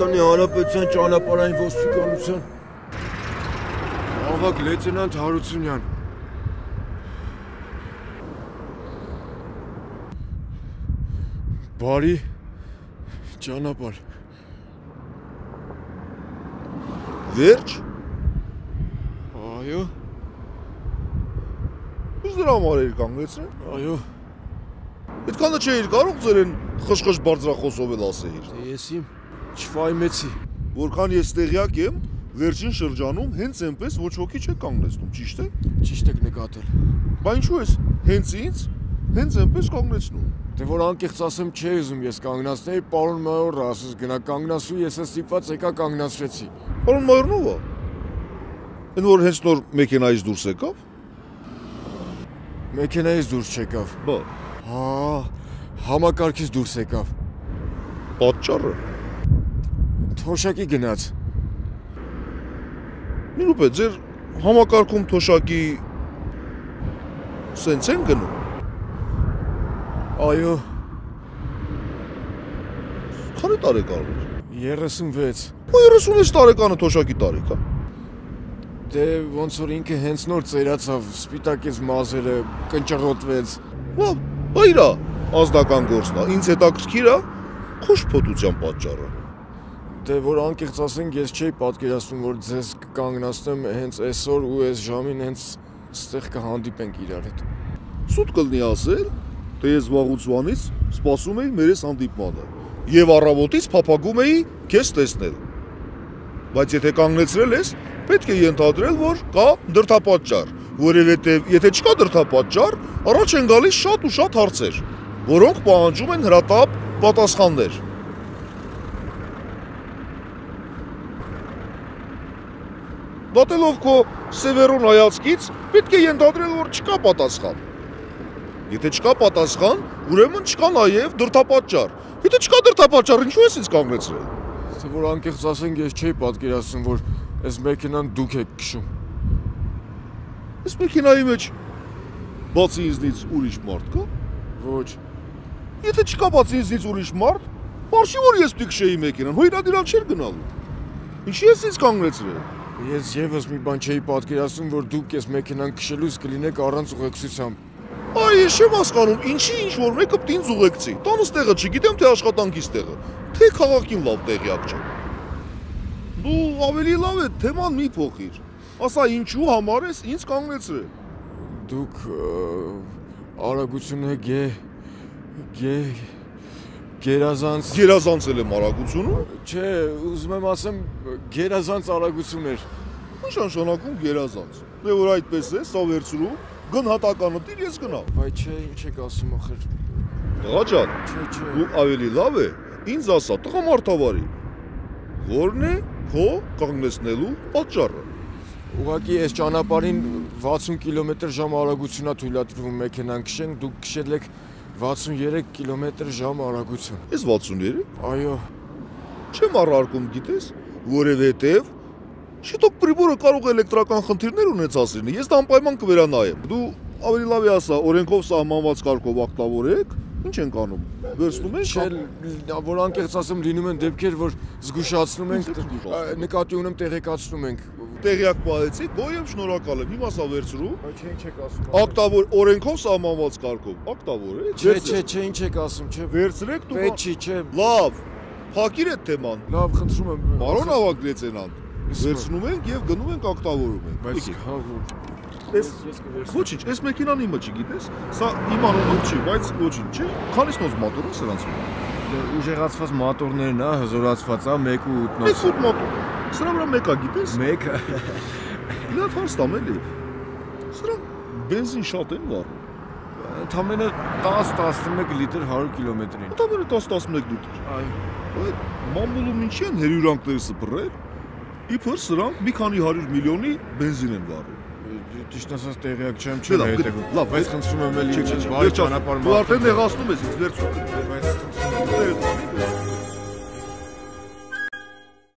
Հայաստանի Հանրապետության ճանապարհային ոստիկանության ավագ լեյտենանտ Հարությունյան։ Բարի ճանապարհ։ Վերջ։ Այո։ Ինչ դրա համար էր կանգնեցրել։ Այո։ Այդքանը չէիր կարող ձերեն խշխշ բարձրախոսով էլ ասեիր։ Ես իմ չվայմեցի։ Որքան ես տեղյակ եմ, վերջին շրջանում հենց այնպես ոչ ոքի չէ կանգնեցնում, ճիշտ է։ Ճիշտ եք նկատել։ Բա ինչու ես հենց ինձ հենց այնպես կանգնեցնում։ Դե որ անկեղծ ասեմ չէի ուզում ես կանգնացնեի, պարոն մայորը ասես գնա կանգնացու, ես էլ ստիպված եկա կանգնացրեցի։ Պարոն մայորն ո՞վ է։ Այն որ հենց նոր մեքենայից դուրս եկավ։ Մեքենայից դուրս չեկավ։ Բա։ Հա, համակարգից դուրս եկավ։ Պատճառը։ Թոշակի գնաց։ Մի րոպե, ձեր համակարգում թոշակի սենց են գնում։ Այո։ Քանի տարեկան է։ 36։ Ու 36 տարեկանը թոշակի տարիք է։ Դե ոնց որ ինքը հենց նոր ծերացավ, սպիտակեց մազերը, կնճռոտվեց։ Լավ, բա իրա ազնական գործն է, ինձ հետաքրքիր է քո շփոթության պատճառը։ Դե որ անկեղծ ասենք, ես չէի պատկերացնում, որ ձեզ կկանգնացնեմ հենց այսօր ու այս ժամին հենց ստեղ կհանդիպենք իրար հետ։ Սուտ կլինի ասել, թե ես վաղուց սպասում էի մեր այս հանդիպմանը եւ առավոտից փափագում էի քեզ տեսնել։ Բայց եթե կանգնեցրել ես, պետք է ենթադրել, որ կա դրդապատճառ, որովհետեւ եթե չկա դրդապատճառ, առաջ են գալիս շատ ու շատ հարցեր, որոնք պահանջում են հրատապ պատասխաններ։ Դատելով քո սևեռուն հայացքից, պետք է ենթադրել, որ չկա պատասխան։ Եթե չկա պատասխան, ուրեմն չկա նաև դրդապատճառ։ Եթե չկա դրդապատճառ, ինչու ես ինձ կանգնեցրել։ Թե որ անկեղծ ասենք, ես չէի պատկերացնում, որ այս մեքենան դուք եք քշում։ Այս մեքենայի մեջ բացի ինձնից ուրիշ մարդ կա։ Ոչ։ Եթե չկա բացի ինձնից ուրիշ մարդ, բարշի որ ես պիտի քշեի մեքենան, հո իրադիրանք չէր գնալու։ Ինչի ես ինձ կանգնեցրել։ Ես եւս մի բան չէի պատկերացնում, որ դուք այս մեքենան քշելուց կլինեք առանց ուղեկցությամբ։ Այ ես չեմ հասկանում, ինչի ինչ որ մեկը պիտի ինձ ուղեկցի։ Տանս տեղը չգիտեմ, թե աշխատանքից տեղը, թե քաղաքին լավ տեղյակ չեմ։ Դու ավելի լավ է թեման մի փոխիր։ Ասա ինչու համար ես ինձ կանգնեցրել։ Դուք արագությունը Գերազանցել եմ արագությունը։ Չէ, ուզում եմ ասեմ գերազանց արագություն էր։ Ինչ նշանակում գերազանց։ Դե որ այդպես է, սա վերցրու, գնահատականը դիր ես գնա։ Բայց չէ, ինչ եք ասում ախր։ Տղա ջան, Չէ։ դու ավելի լավ է ինձ ասա, տղա մարդավարի։ Որն է քո կանգնեցնելու պատճառը։ Ուղղակի այս ճանապարհին 60 կմ/ժ արագությունա թույլատրվում մեքենան քշեն, դուք քշել եք 63 կմ/ժ արագություն։ Ես 63։ Այո։ Չեմ առարկում, գիտես, որովհետև շուտով պրիբորը կարող է էլեկտրական խնդիրներ ունեցած լինի։ Ես դա անպայման կվերանայեմ։ Դու ավելի լավ է ասա, օրենքով սահմանված կարգով ակտավորեք, ինչ ենք անում։ Վերցնում ենք։ Չէ, որ անկեղծ ասեմ, լինում են դեպքեր, որ զգուշացնում ենք, նկատի ունեմ տեղեկացնում ենք։ Տեղյակ պահեցիք, գոյ եմ, շնորհակալ եմ։ Հիմա սա վերցրու։ Բայց ինչ եք ասում։ Ակտավոր օրենքով սահմանված կարգով ակտավորեք։ Չէ, ինչ եք ասում, չէ։ Վերցրեք դու։ Պետք չի, չէ։ Լավ։ Փակիր այդ թեման։ Լավ, խնդրում եմ։ Պարոն ավագ լեյտենանտ, վերցնում ենք եւ գնում ենք ակտավորում ենք։ Բայց հա ես ոչինչ, այս մեքենան իմը չգիտես, սա իմ անունով չի, բայց ոչինչ, չէ։ Քանիսնոց մոտոր է սրանց։ Ուժեղացված մոտորներն է, հզորացված է 1.8-նոց։ 1.8 մոտոր։ Սրա վրա մեկա գիտես։ Մեկը։ Իլատ հարստամ էլի։ Սրանք բենզին շատ են վառում։ Ընդամենը 10-11 լիտր 100 կիլոմետրին։ Ընդամենը 10-11 լիտր։ Այո։ Այդ մամուլում ինչի են հերյուրանքները սփռել։ Իբր սրանք մի քանի 100 միլիոնի բենզին են վառում։ Ճիշտ ասած տեղյակ չեմ, չեմ հետևում։ Լավ, բայց խնդրում եմ էլի չէ, բարի ճանապարհ։ Դու արդեն նեղացնում ես ինձ վերցու։ Բայց խնդրում եմ